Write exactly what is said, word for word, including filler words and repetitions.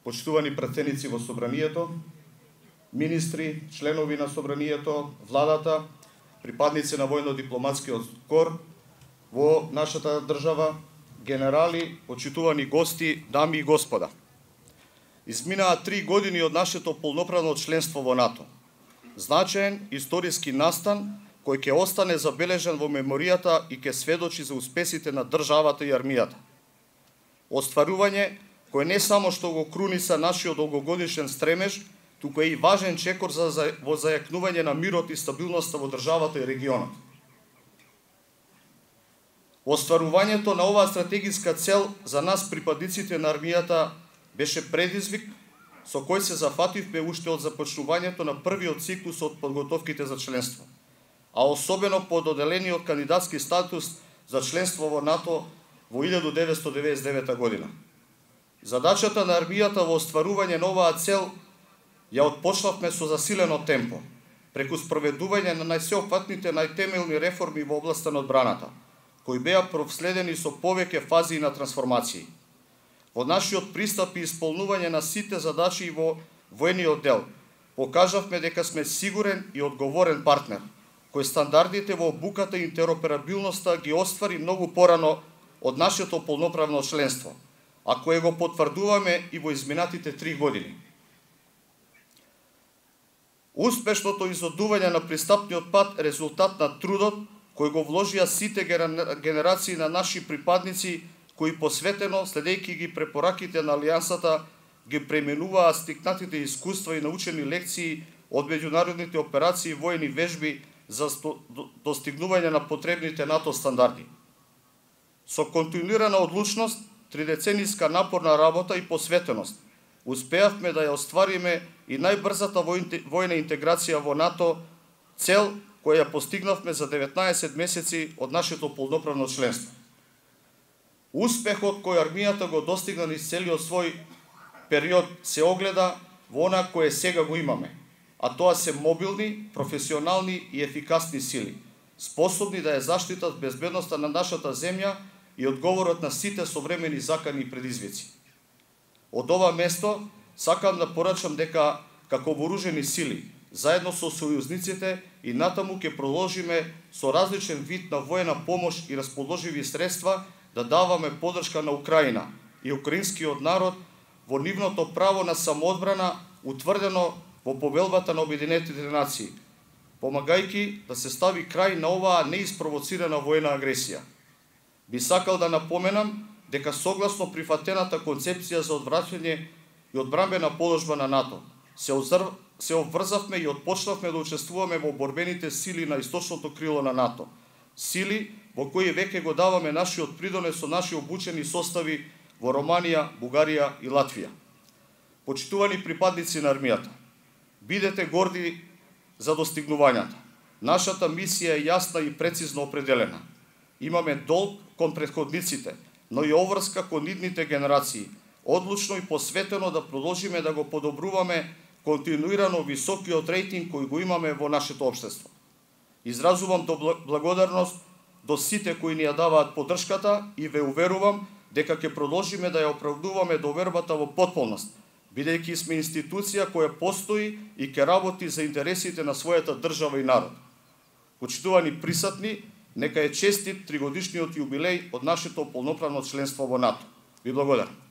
почитувани пратеници во собранието, министри, членови на собранието, владата, припадници на војно-дипломатскиот кор во нашата држава, генерали, почитувани гости, дами и господа. Изминаа три години од нашето полноправно членство во НАТО. Значаен историски настан кој ќе остане забележан во меморијата и ќе сведочи за успесите на државата и армијата. Остварување кој не само што го круниса нашиот долгогодишен стремеж, туку е и важен чекор за, за во зајакнување на мирот и стабилноста во државата и регионот. Остварувањето на оваа стратегиска цел за нас припадниците на армијата беше предизвик со кој се зафативме уште од започнувањето на првиот циклус од подготовките за членство, а особено по доделениот кандидатски статус за членство во НАТО во илјада деветстотини деветдесет и девета година. Задачата на армијата во остварување на оваа цел ја отпочнавме со засилено темпо, преку спроведување на најсеопфатните најтемелни реформи во областа на одбраната, кои беа проследени со повеќе фази на трансформации. Во нашиот пристап и исполнување на сите задачи во војниот дел, покажавме дека сме сигурен и одговорен партнер, кој стандардите во обуката и интероперабилноста ги оствари многу порано од нашето полноправно членство, а кое го потврдуваме и во изминатите три години. Успешното изодување на пристапниот пат е резултат на трудот кој го вложија сите генерации на наши припадници, кои посветено, следејќи ги препораките на Алијансата, ги пременуваа стикнатите искуства и научени лекции од меѓународните операции и војни вежби за достигнување на потребните НАТО стандарди. Со континуирана одлучност, тридецениска напорна работа и посветеност, успеавме да ја оствариме и најбрзата војна интеграција во НАТО, цел која ја постигнавме за деветнаесет месеци од нашето полноправно членство. Успехот кој армијата го достигна низ целиот свој период се огледа во она кое сега го имаме, а тоа се мобилни, професионални и ефикасни сили, способни да ја заштитат безбедноста на нашата земја и одговорот на сите современи закани и предизвици. Од ова место сакам да порачам дека како вооружени сили, заедно со сојузниците и натаму ќе продолжиме со различен вид на војна помош и расположиви средства да даваме поддршка на Украина и украинскиот народ во нивното право на самоодбрана утврдено во повелбата на Обединетите нации, помагајќи да се стави крај на оваа неиспровоцирана војна агресија. Би сакал да напоменам дека согласно прифатената концепција за одвраќање и одбранбена положба на НАТО, се, озр... се обврзавме и отпочнавме да учествуваме во борбените сили на источното крило на НАТО, сили во кои веќе го даваме нашиот придонес со наши обучени состави во Романија, Бугарија и Латвија. Почитувани припадници на армијата, бидете горди за достигнувањата. Нашата мисија е јасна и прецизно определена. Имаме долг кон претходниците, но и обврска кон идните генерации, одлучно и посветено да продолжиме да го подобруваме континуирано високиот рейтинг кој го имаме во нашето општество. Изразувам до благодарност до сите кои ни ја даваат поддршката и ве уверувам дека ќе продолжиме да ја оправдуваме довербата во потполност, бидејќи сме институција која постои и ќе работи за интересите на својата држава и народ. Почитувани присутни, нека е честит тригодишниот јубилеј од нашето полноправно членство во НАТО. Ви благодарам.